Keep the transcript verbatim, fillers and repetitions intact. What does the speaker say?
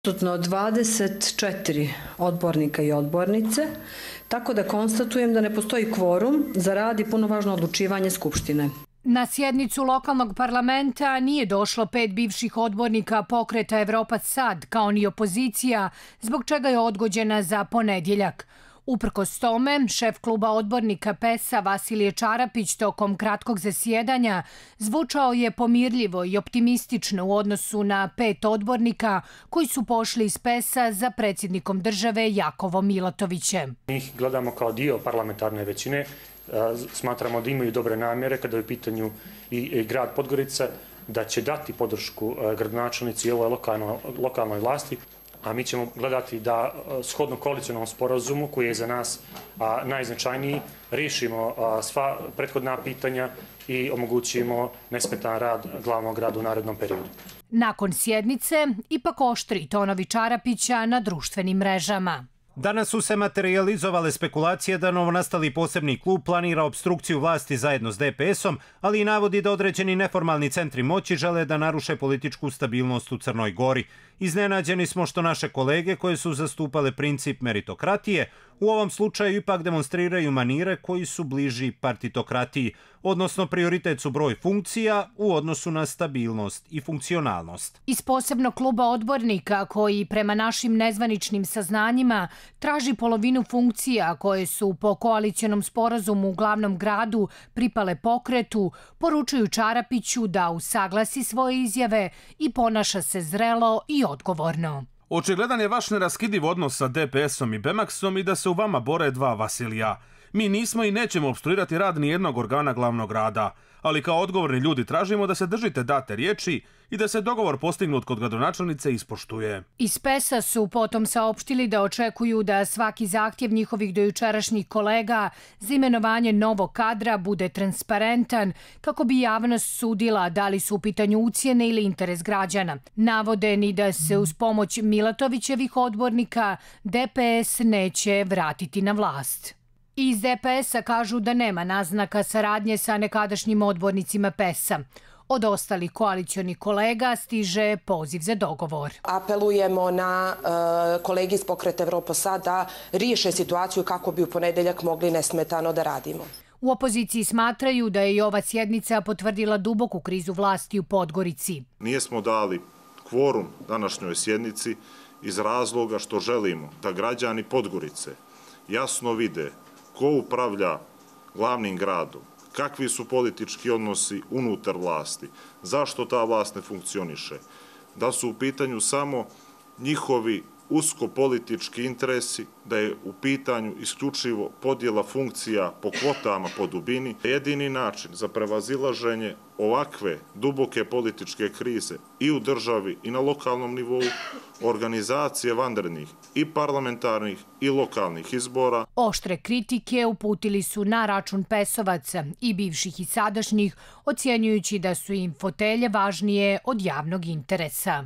Prisutno dvadeset četiri odbornika i odbornice, tako da konstatujem da ne postoji kvorum za rad i punovažno odlučivanje Skupštine. Na sjednicu lokalnog parlamenta nije došlo pet bivših odbornika Pokreta Evropa Sad, kao ni opozicija, zbog čega je odgođena za ponedjeljak. Uprkos tome, šef kluba odbornika P E S-a Vasilije Čarapić tokom kratkog zasjedanja zvučao je pomirljivo i optimistično u odnosu na pet odbornika koji su pošli iz P E S-a za predsjednikom države Jakovom Milatovićem. Mi ih gledamo kao dio parlamentarne većine, smatramo da imaju dobre namjere kada je u pitanju i grad Podgorica, da će dati podršku gradonačelnici i ovoj lokalnoj vlasti. A mi ćemo gledati da shodno koalicionalnom sporazumu, koji je za nas najznačajniji, riješimo sva prethodna pitanja i omogućimo nesmetan rad glavnog grada u narednom periodu. Nakon sjednice, ipak oštri tonovi Čarapića na društvenim mrežama. Danas su se materijalizovale spekulacije da novonastali posebni klub planira obstrukciju vlasti zajedno s D P S-om, ali i navodi da određeni neformalni centri moći žele da naruše političku stabilnost u Crnoj Gori. Iznenađeni smo što naše kolege koje su zastupale princip meritokratije u ovom slučaju ipak demonstriraju manire koji su bliži partitokratiji, odnosno prioritet su broj funkcija u odnosu na stabilnost i funkcionalnost. Iz posebnog kluba odbornika koji prema našim nezvaničnim saznanjima traži polovinu funkcija koje su po koalicionom sporazumu u glavnom gradu pripale Pokretu, poručuju Čarapiću da usaglasi svoje izjave i ponaša se zrelo i odgovorno. Očigledan je vaš neraskidiv odnos sa D P S-om i Bemaxom i da se u vama bore dva Vasilija. Mi nismo i nećemo opstruirati rad nijednog organa glavnog grada, ali kao odgovorni ljudi tražimo da se držite date riječi i da se dogovor postignut kod gradonačelnice ispoštuje. Iz P E S-a su potom saopštili da očekuju da svaki zahtjev njihovih dojučerašnjih kolega za imenovanje novog kadra bude transparentan kako bi javnost sudila da li su u pitanju ucjene ili interes građana. Navode ni da se uz pomoć Milatovićevih odbornika D P S neće vratiti na vlast. Iz D P S-a kažu da nema naznaka saradnje sa nekadašnjim odbornicima P E S-a. Od ostalih koalicionih kolega stiže poziv za dogovor. Apelujemo na uh, kolegi iz Pokreta Evropa Sad da riješe situaciju kako bi u ponedjeljak mogli nesmetano da radimo. U opoziciji smatraju da je i ova sjednica potvrdila duboku krizu vlasti u Podgorici. Nijesmo dali kvorum današnjoj sjednici iz razloga što želimo da građani Podgorice jasno vide ko upravlja glavnim gradom, kakvi su politički odnosi unutar vlasti, zašto ta vlast ne funkcioniše, da su u pitanju samo njihovi usko-politički interesi, da je u pitanju isključivo podjela funkcija po kvotama po dubini. Jedini način za prevazilaženje ovakve duboke političke krize i u državi i na lokalnom nivou, organizacije vanrednih i parlamentarnih i lokalnih izbora. Oštre kritike uputili su na račun P E S-ovaca i bivših i sadašnjih, ocjenjujući da su im fotelje važnije od javnog interesa.